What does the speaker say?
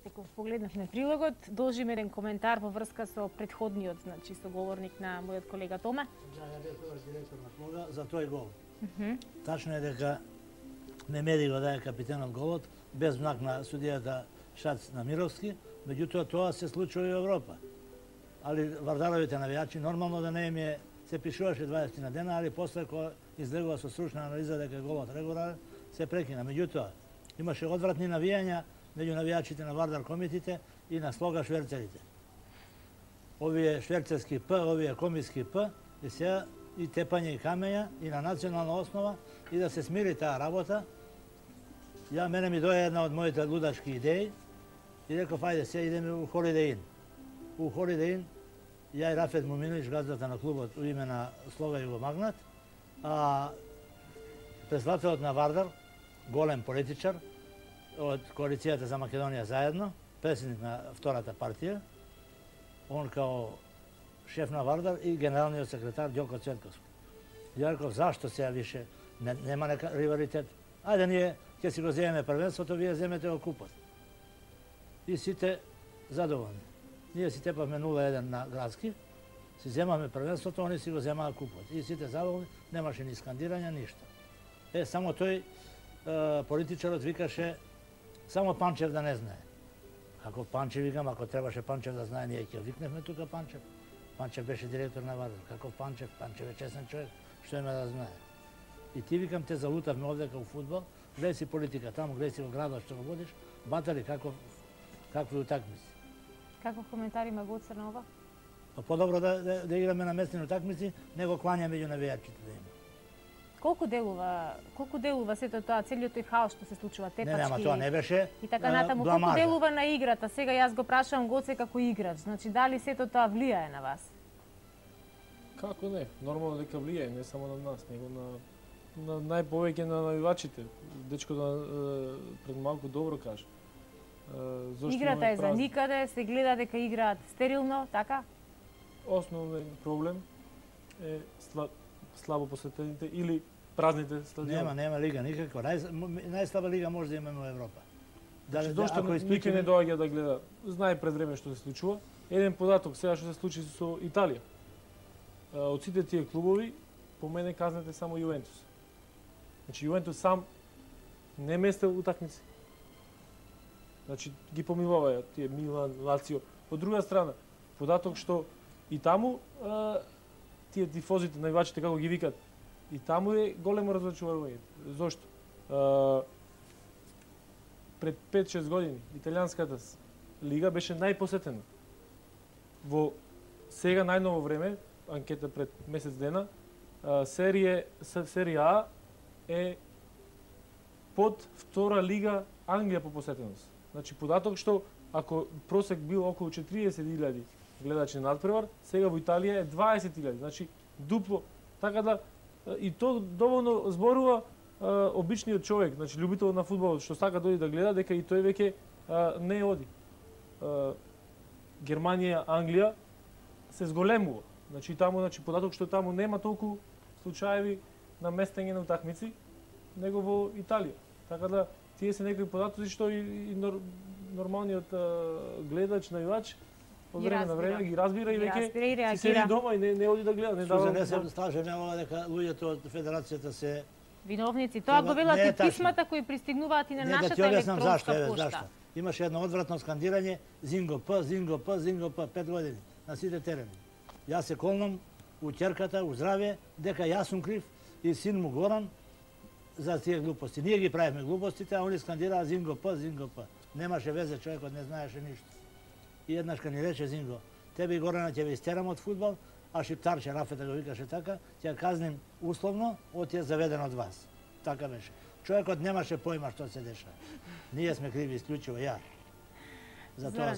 Ете, погледнавме прилогот, должиме еден коментар во врска со претходниот, значи соговорник на мојот колега Томе. Да, ја бев директор на клуба за тој гол. Тачно е дека Мемеди го даде капитенот голот, без знак на судијата Шац на Мировски, меѓутоа тоа се случува и во Европа. Али Вардаровите навијачи нормално да не им е, се пишуваше 20 на дена, али после кога излегува со стручна анализа дека голот регуларен, се прекина. Меѓутоа, имаше одвратни навијања меѓу навијачите на Вардар комитите и на слога шверцерите. Овие шверцерски П, овие комиски П, и сега и тепање и камења и на национална основа и да се смири таа работа. Мене ми дојде една од моите лудачки идеи и реков, ајде, сега идеме у Holiday Inn. У Holiday Inn, ја и Рафет Муминович, газдата на клубот у име на Слога Југомагнат, а председателот на Вардар, голем политичар, од коалицијата за Македонија заедно, председник на втората партија, он као шеф на Вардар и генералниот секретар Ѓоко Цветковски. Ја реков, зашто сега више нема нека ривалитет? Ајде ние ќе си го земеме првенството, вие земете го купот. И сите задоволни. Ние си тепавме 0-1 на градски, си земавме првенството, они си го земаа купот. И сите задоволни, немаше ни скандирања, ништо. Само тој политичарот викаше, само Панчев да не знае. Ако Панчев викам, ако требаше Панчев да знае, ние ќе викневме тука Панчев. Панчев беше директор на Вардар. Како Панчев? Панчев е честен човек, што има да знае. И ти викам, те залутавме овдека у фудбал, гледај си политика таму, гледај си во градот што го водиш, батали какви утакмици. Каков коментар има го од ова? Подобро да играме на местни утакмици, него клања меѓу навијачите да има. Колку делува сето тоа, целиот тој хаос што се случува, тепачки? Не, ама тоа не беше и така натаму, колку делува на играта? Сега јас го прашувам Гоце како играч, значи дали сето тоа влијае на вас? Како не? Нормално дека влијае, не само на нас, него на најповеќе на навивачите. Дечкото пред малку добро кажа. Играта е за никаде, се гледа дека играат стерилно, така? Основен проблем е слабо посетените или празните стадиони. Нема лига никаква. Најслаба лига може да имаме во Европа. Зошто никој не доаѓа да гледа? Знае пред време што се случува. Еден податок сега што се случи со Италија. Од сите тие клубови, по мене казнете само Јувентус. Значи Јувентус сам не местел утакмици. Значи ги помилуваја тие Милан, Лацио. Од друга страна, податок што и таму тие тифозите, навивачите како ги викат, и таму е големо разочарување. Зошто? Пред 5-6 години италијанската лига беше најпосетена. Во сега најново време, анкета пред месец дена, серија А е под втора лига Англија по посетеност. Значи податок што ако просек бил околу 40.000 гледачи на надпревар, сега во Италија е 20.000, значи дупло. Така да и то доволно зборува обичниот човек, значи љубител на фудбалот што сака дојде да гледа, дека и тој веќе не оди. Германија, Англија се зголемува. Значи таму, податок што таму нема толку случаеви на местење на утакмици, него во Италија. Така да тие се некои податоци што и нормалниот гледач, навивач од време на време ги разбира и веќе си седи дома и не оди да гледа, не дава. Не се слажем дека луѓето од федерацијата се виновници. Тоа го велат и писмата кои пристигнуваат и на нашата електронска пошта. Имаше едно одвратно скандирање Зинго П, 5 години на сите терени. Јас се колнам у ќерката, у здравје, дека јас сум крив и син му Горан за тие глупости. Ние ги правиме глупостите, а они скандираа Зинго П. Немаше везе, човекот не знаеше ништо. И еднашка ни рече Зинго, тебе и Горана ќе ве истерам од фудбал, а шиптарче Рафета го викаше така, ќе казним условно, од ја заведен од вас. Така беше. Човекот немаше појма што се дешава. Ние сме криви исклучиво, ја. За тоа